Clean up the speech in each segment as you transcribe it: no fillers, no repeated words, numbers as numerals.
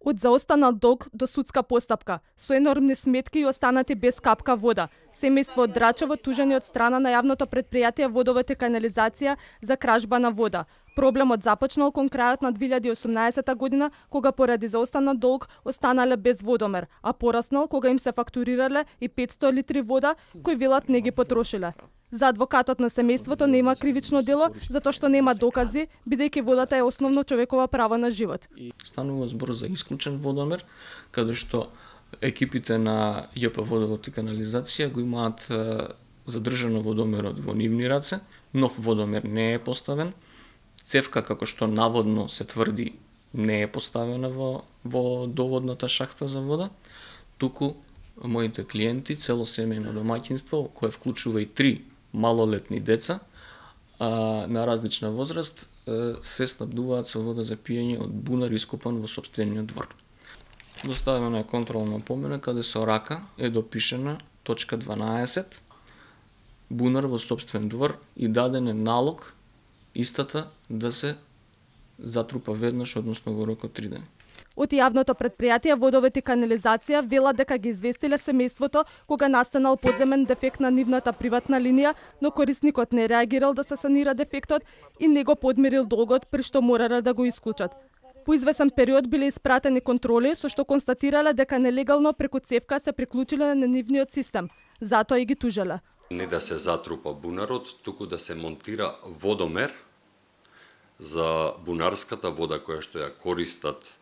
Од заостанал долг до судска постапка, со енормни сметки и останати без капка вода. Семејство од Драчево тужени од страна на јавното претпријатие Водовод и канализација за кражба на вода. Проблемот започнал кон крајот на 2018 година, кога поради заостанал долг останале без водомер, а пораснал кога им се фактурирале и 500 литри вода, кои велат не ги потрошиле. За адвокатот на семејството нема кривично дело, затоа што нема докази, бидејќи водата е основно човекова право на живот. Станува збор за исклучен водомер, каде што екипите на ЈП Водовод и канализација го имаат задржано водомерот во нивни раце, нов водомер не е поставен, цевка како што наводно се тврди не е поставена во доводната шахта за вода, туку моите клиенти, цело семејно домаќинство, кое вклучува и 3 малолетни деца на различна возраст, се снабдуваат со вода за пиење од бунар ископан во сопствениот двор. Доставена е контролна помена каде со рака е допишена точка 12, бунар во сопствен двор, и даден е налог истата да се затрупа веднаш, односно во рок од 3 дена. Од јавното претпријатие Водовод и канализација вела дека ги известиле семејството кога настанал подземен дефект на нивната приватна линија, но корисникот не реагирал да се санира дефектот и не го подмирил долгот, при што морале да го исклучат. По извесен период биле испратени контроли со што констатирале дека нелегално преку цевка се приклучиле на нивниот систем, затоа и ги тужеле. Не да се затрупа бунарот, туку да се монтира водомер за бунарската вода која што ја користат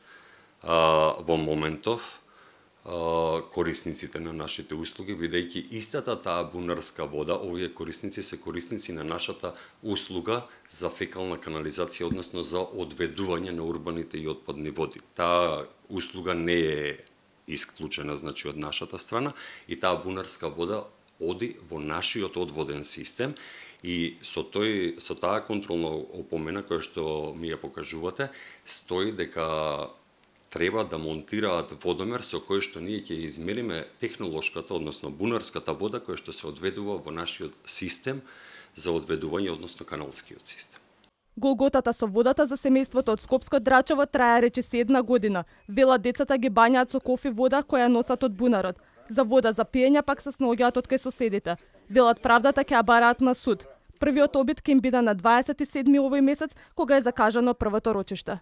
во моментов корисниците на нашите услуги, бидејќи истата таа бунарска вода, овие корисници се корисници на нашата услуга за фекална канализација, односно за одведување на урбаните и отпадни води. Таа услуга не е исклучена, значи, од нашата страна, и таа бунарска вода оди во нашиот одводен систем, и со таа контролна опомена која што ми ја покажувате, стои дека треба да монтираат водомер со кој што ние ќе измериме технолошката, односно бунарската вода која што се одведува во нашиот систем за одведување, односно каналскиот систем. Голготата со водата за семејството од Скопско Драчево трае речиси 1 година. Вела децата ги бањаат со кофи вода која носат од бунарот. За вода за пиење пак се снаоѓаат од кај соседите. Велат правдата ќе ја бараат на суд. Првиот обид ќе им биде на 27 овој месец, кога е закажано првото рочиште.